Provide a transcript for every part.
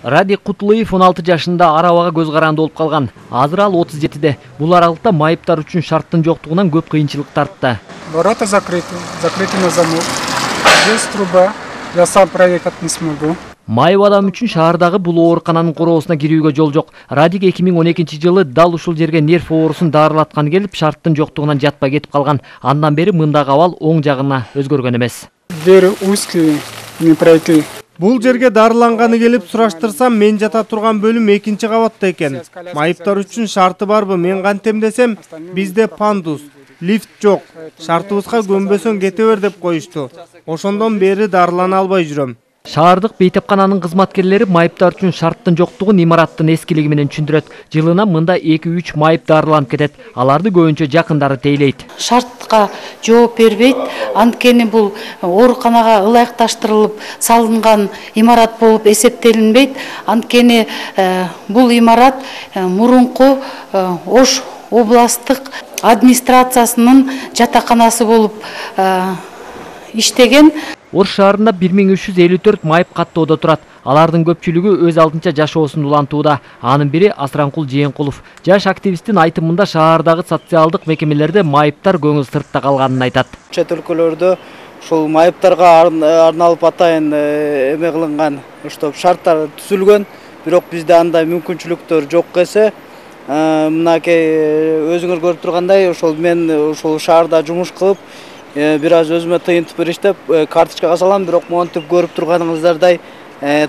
Радик Кутулуев 16 жашында арабага көз каранды болуп калган. Азыр ал 37-де. Бул аралыкта майыптар үчүн шарттын жоктугунан көп кыйынчылык тартты. Ворота закрыты на замок. Здесь труба. Я сам проехать не смогу. Майып адам үчүн шаардагы бул оорукананын короосуна кирүүгө жол жок. Радик 2012-жылы дал ушул жерге нерв оорусун дарылаткан келип, шарттын жоктугунан жатпай кетип калган. Андан бери мындагы абал оң жагына өзгөргөн эмес. Двери узкие, не пройти. Бул жерге дарыланганы келип сураштырсам, мен жата турган бөлүм 2-чи кабатта экен. Майыптар үчүн шарты барбы? Мен кантем десем, бизде пандус, лифт жок. Шартыбызга көнбөсөң кете бер деп коюшту. Ошондон бери дарылана албай жүрөм. Шаардык бейтепкананын кызматкерлери майыптар үчүн шарттын жоктугун имараттын эскилиги менен түшүндүрөт. Жылына мында 2-3 майып дарыланып кетет. Аларды көбүнчө жакындары тейлейт. Шартка жооп бербейт. Анткени бул ооруканага ылайыкташтырылып салынган имарат болуп эсептелинбейт. Анткени бул имарат мурунку Ош областтык администрациясынын жатаканасы болуп иштеген. Ош шаарында 1354 майып каттоодо турат. Алардын көпчүлүгү өз алдынча жашоосун улантууда. Анын бири Асранкул Жээнкулов. Жаш активисттин айтымында шаардагы социалдык мекемелерде майыптар көңүл сыртта калганын айтат. Чет өлкөлөрдө ушул майыптарга арналып атайын эме кылынган, уштап шарттар түзүлгөн, бирок бизде андай мүмкүнчүлүктөр жок эсе. Мынакей өзүңөр көрүп тургандай, ошол мен ушул шаарда жумуш кылып, бир аз өзүмө тыйынтып иштеп, карточкага салам, бирок монтип көрүп турганыңыздардай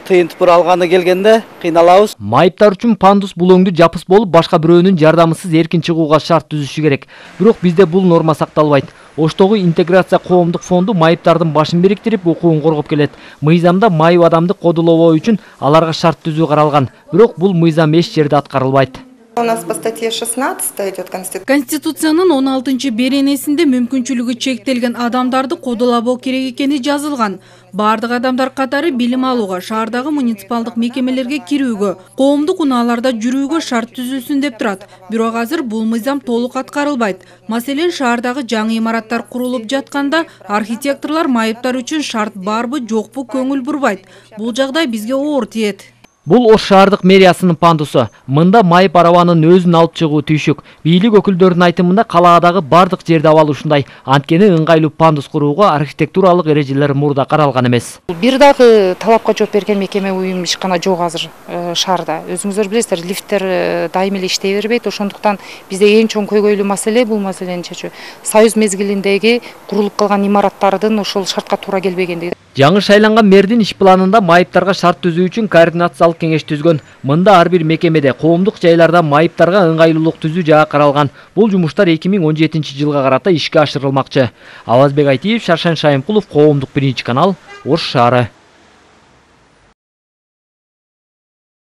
тыйынтып алганы келгенде кыйналабыз. Майыптар үчүн пандус булоңду жапыс болуп, башка бирөөнүн жардамысыз эркин чыгууга шарт түзүшү керек. Бирок бизде бул норма сакталбайт. Оштогу интеграция коомдук фонду майыптардын башын бириктирип, укугун коргоп келет. Мыйзамда майып адамды кодулоо үчүн аларга шарт түзүү каралган. Бирок бул мыйзам эч жерде аткарылбайт. У нас по статье 16 идет Конституция. Конституциянын 16-чы беренесинде мүмкүнчүлүгү чектелген адамдарды кодулабоо керек экени жазылган. Бардык адамдар катары билим алууга, шаардагы муниципалдык мекемелерге кирүүгө, коомдук унааларда жүрүүгө шарт түзүлсүн деп турат. Бирок азыр бул мыйзам толук аткарылбайт. Маселен, шаардагы жаңы имараттар курулуп жатканда архитекторлор майыптар үчүн шарт барбы, жокпу көңүл бурбайт. Бул жагдай бизге оор тиет. Бул Ош шаардык мэриясынын пандусу. Мында майып арабанын өзүн алып чыгуу түйшүк. Бийлик өкүлдөрүнүн айтымында калаадагы бардык жерде абал ушундай. Анткени ыңгайлуу пандус курууга архитектуралык эрежелер мурда каралган эмес. Бир дагы талапка жооп берген мекеме уюм ишкана жок азыр шаарда. Өзүңүздөр билесиздер, лифттер дайым эле иштей бербейт. Ошондуктан бизде эң чоң көйгөйлүү маселе бул маселени чечүү. Союз мезгилиндеги курулуп калган имараттардын ошол шартка туура келбегендиги. Жаңы шайланган мэрдин иш планында майыптарга шарт түзүү үчүн координациялык кеңеш түзгөн. Мында ар бир мекемеде коомдук жайларда майыптарга ыңгайлуулук түзүү жагы каралган. Бул жумуштар 2017-жылга карата ишке ашырылмакчы. Авазбек Айтиев, Шаршан Шайымкулов, Коомдук 1 канал, Ош шаары.